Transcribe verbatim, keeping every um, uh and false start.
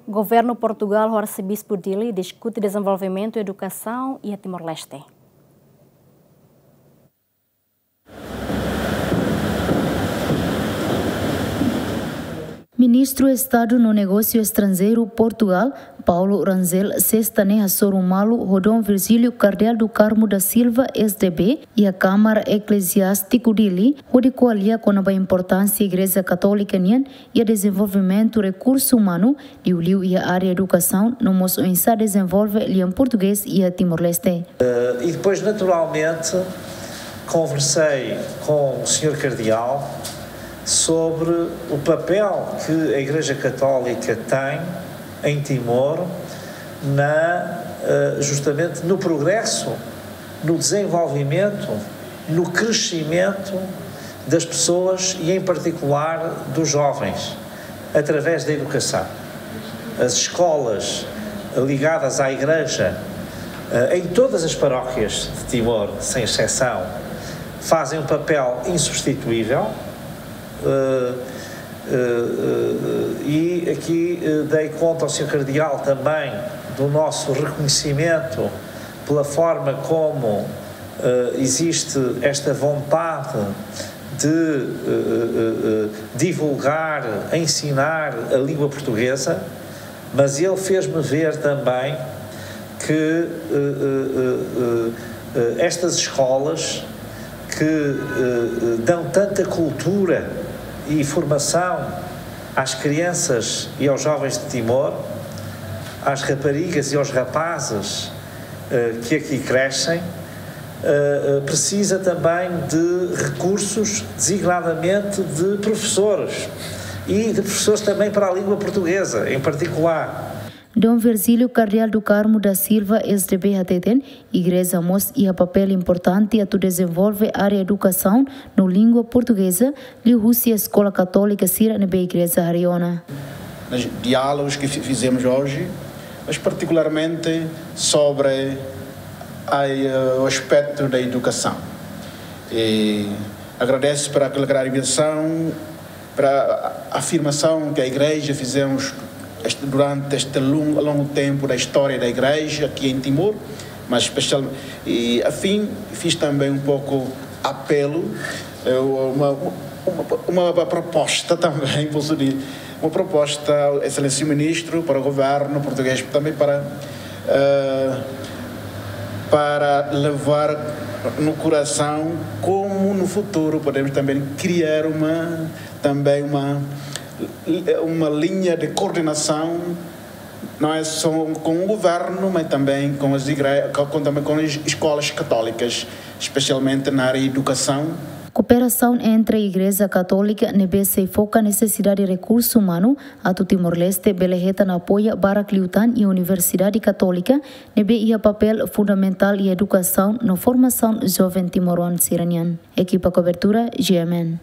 Governu Portugál ho Arsebispu Dili diskute dezenvolvimentu edukasaun iha Timor-Leste. Ministru Estadu no Negósiu Estranjeiru Portugál, Paulo Rangel, sesta ne'e hasoru malu ho Dom Virgílio Cardeal do Carmo da Silva, S D B, iha Kámara Ekleziástiku Dili, hodi ko'alia kona-ba importánsia Igreja Katólika nian iha dezenvolvimentu rekursu umanu, liuliu iha área edukasaun, no mós oinsá dezenvolve lian portugés iha Timor-Leste. Eh, e depois, naturalmente, conversei com o senhor Cardeal sobre o papel que a Igreja Católica tem em Timor, na, eh, justamente no progresso, no desenvolvimento, no crescimento das pessoas e, em particular, dos jovens, através da educação. As escolas ligadas à Igreja, eh, em todas as paróquias de Timor, sem exceção, fazem um papel insubstituível. Eh, eh, eh, e aqui, eh, dei conta ao senhor Cardeal também do nosso reconhecimento pela forma como, eh, existe esta vontade de, eh, eh, eh, divulgar, ensinar a língua portuguesa, mas ele fez-me ver também que, eh, eh, eh, eh, eh, estas escolas que, eh, eh, dão tanta cultura e formação às crianças e aos jovens de Timor, às raparigas e aos rapazes, eh, que aqui crescem, eh, eh, precisa também de recursos, designadamente de professores e de professores também para a língua portuguesa, em particular. Dom Virgílio Cardeal do Carmo da Silva, S D B, hateten, Igreja mós iha papél importante atu dezenvolve área edukasaun no língua portugeza, liuhusi eskola katólika sira ne'ebé Igreja harii ona. Nos diálogos que fi-, fizemos hoje, mas particularmente sobre a, eh, o aspecto da educação. E agradeço para aquela clarificação, para a afirmação que a Igreja fizemos este, durante este longo, longo tempo da história da Igreja aqui em Timor, mas especial, e afim, fiz também um pouco apelo, eh, uma, uma, uma proposta também, posso dizer, uma proposta ao Excelentíssimo Ministro, para o governo português, também para, eh, para levar no coração como no futuro podemos também criar uma, também uma, uma linha de coordenação, não é só com o governo, mas também com as igre-, com, também com as escolas católicas, especialmente na área de educação. Kooperasaun entre Igreja Katólika ne'ebé sei foka nesesidade rekursu umanu atu Timor-Leste bele hetan apoiu barak liután iha Universidade Katólika ne'ebé iha papél fundamentál iha edukasaun no formasaun joven timoroan sira-nian. Ekipa kobertura, G M N.